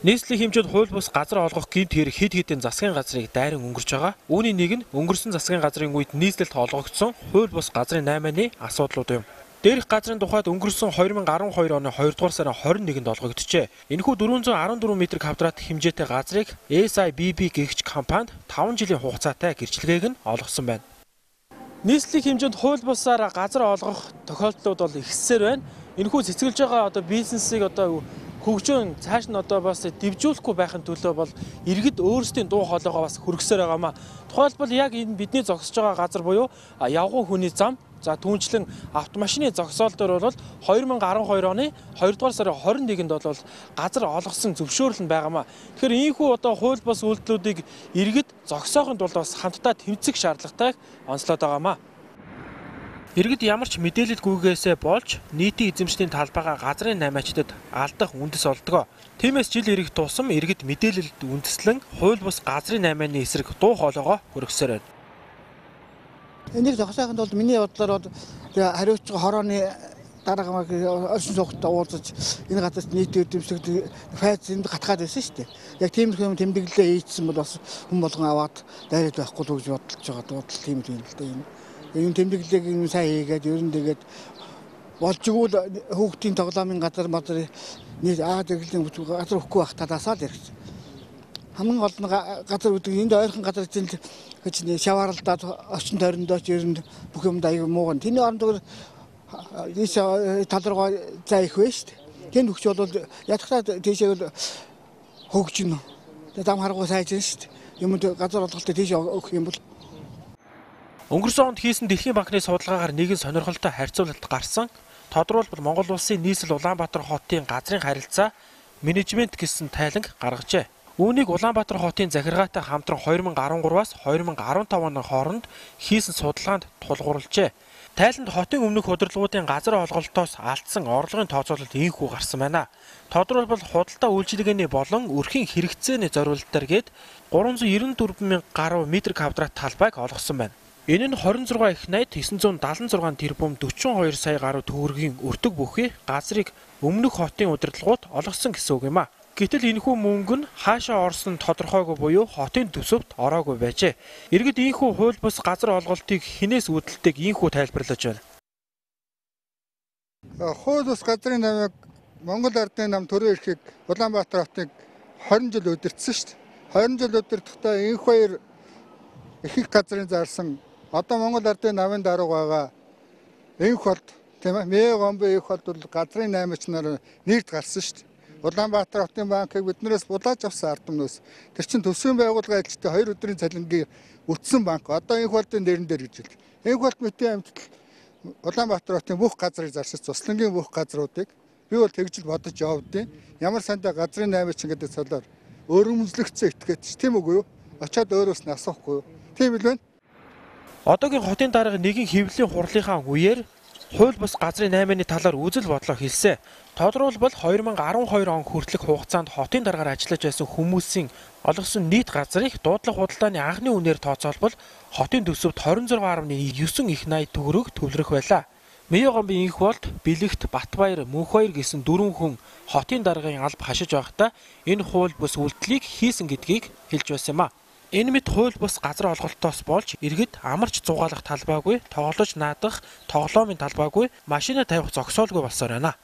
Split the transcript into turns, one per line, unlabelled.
Нийслэлийн хэмжээнд хууль бус газар олгох гэмт хэрэг хэд хэдэн засгийн газрыг дайран өнгөрч байгаа. Үүний нэг нь өнгөрсөн засгийн газрын үед нийслэлд олгогдсон хууль бус газрын 8-ны асуудлууд юм. Дээрх газрын тухайд өнгөрсөн 2012 оны 2 дугаар сарын 21-нд олгогджээ. Энэхүү 414 м2 хэмжээтэй газрыг SIBB гэгч компанид 5 жилийн хугацаатай гэрчлэгээг нь олгосон байна. Нийслэлийн хэмжээнд хууль бусаар газар олгох тохиолдлууд бол ихсээр байна. Энэхүү цэцгэлж байгаа бизнесийг хөгжөөн цааш нь бас дэвжүүлэхгүй байхын төлөө бол иргэд өөрсдийн дуу хоолойгоо бас хөргсөөр байгаамаа. Тухайлбал яг энэ бидний зогсож байгаа газар буюу явган хүний зам, за түүнчлэн автомашины зогсоол дээр бол 2012 оны 2 дугаар сарын 21-нд бол газар олгосон зөвшөөрөл нь байгаамаа. Тэгэхээр ийхүү хууль бус үйлдэлүүдийг иргэд зогсоохын тулд бас хамтдаа тэмцэх шаардлагатай онцлоод байгаамаа. Иргэд ямар ч мэдээлэл гүйгээсээ болж нийтийн эзэмшлийн талбайгаа газрын 8-ачдад алдах үндэс олдгоо. Тиймээс жил ирэх тусам иргэд мэдээлэлд үндэслэн хууль бус газрын 8-ны эсрэг дуу хоолойгоо хөргсөөр байна.
Энийг зогсоохын тулд миний бодлоор хариуцж хорооны дараагаар орчин суугчтай уулзаж энэ газарт нийтийн эзэмшигт файз энд гатгаад байсан шүү дээ. Яг тиймэрхүү тэмдэглэлээ хийсэн бол бас хүн болгон аваад дайраад байхгүй л гэж бодож байгаа тийм л дээ. Энэ тэмдэглэлийг энэ сайн хийгээд ер нь тэгээд болж игэл хүүхдийн тоглоомын газар нийт тэглэлийн газар өгөхгүй байх талаасаа л ирэх. Хамгийн гол нь газар үүдэг энд ойрхон газар чинь шавааралдаад орчин тойрондоо ч ер нь бүх юм аяг мууган. Тэний оронд ийш тал руугаа заа их байна шүү дээ. Тэнд өгч бол ядахтаа тийшээ хөгжинө. Дам харгуу сайжин шүү дээ. Юмд газар олголтыг тийш өгөх юм бол
Өнгөрсөн онд хийсэн Дэлхийн банкны судалгаагаар нэгэн сонирхолтой харьцуулалт гарсан. Тодорхойлбол Монгол улсын нийслэл Улаанбаатар хотын газрын харилцаа менежмент гэсэн тайланг гаргажээ. Үүнийг Улаанбаатар хотын захиргаатай хамтран 2013-аас 2015 оны хооронд хийсэн судалгаанд тулгуурлажээ. Тайланд хотын өмнөх удирдлагуудын газар олголтоос алдсан орлогын тооцоололт ийхүү гарсан байна. Тодорхойлбол худалдаа үйлчилгээний болон өрхийн хэрэгцээний зориулалтаар гээд 394 мянга гаруй метр квадрат талбайг олгосон байна. Энэ нь 26 их найд 976 тэрбум 42 сая гаруй төгрөгийн өртөг бүхий газрыг өмнөх хотын удирдлагууд олгосон гэсэн үг юм а. Гэтэл энэхүү мөнгө нь хаашаа орсон тодорхойгүй буюу хотын төсөвт ороогүй байжээ. Иргэд ийхүү хууль бус газар олголтыг хинээс үүдэлтэйг ийхүү тайлбарлаж байна.
Хууль бус газрын намыг Монгол Ардын нам төрийн эрхийг Улаанбаатар хотыг 20 жил удирдсан шүү дээ. 20 жил удирдахдаа энх хоёр их газрын зарсан одоо Монгол Ардын намын дарга байгаа энх болд тийм ээ Мэ гомбо энх болд бол газрын 8-ч нар нэрд гарсан шүү дээ. Улаанбаатар хотын банкыг биднээс булааж авсан ард түмнээс тэр чин төсвийн байгууллага ажилтны 2 өдрийн цалингийн үтсэн банк одоо энх болдын нэрэн дээр гэж хэлдэг. Энх болд мэтийн амьтал Улаанбаатар хотын бүх газрыг зарсаж цуслангийн бүх газруудыг би бол тэгж бодож явдیں۔ Ямар сандаа газрын 8-ч гэдэг цолоор өрөмжлөгцөө итгээд тийм үгүй юу? Очоод өөрөөс нь асуухгүй юу? Тийм л байна.
Одоогийн хотын дарга нэгэн хэвлэлийн хурлынхаа үеэр хууль бус газрын 8-ны талаар үзэл бодлоо хэлсэн. Тодорхойлбол 2012 он хүртэлх хугацаанд хотын даргаар ажиллаж байсан хүмүүсийн олгосон нийт газрыг дуудлага худалдааны анхны үнээр тооцоолбол хотын төсөвт 26.9 их найд төгрөг төвлөрөх байлаа. Мэ гомбын инх болд Бэлэгт, Батбаяр, Мөнхбаяр гэсэн 4 хүн хотын даргын алба хашиж байхдаа энэ хууль бус үйлдэлийг хийсэн гэдгийг хэлж байсан юм а. Энэ мэт хууль бус газар олголтоос болж иргэд амарч зугаалах талбайгүй, тоглож наадах тоглоомын талбайгүй, машина тавих зогсоолгүй болсоор байна.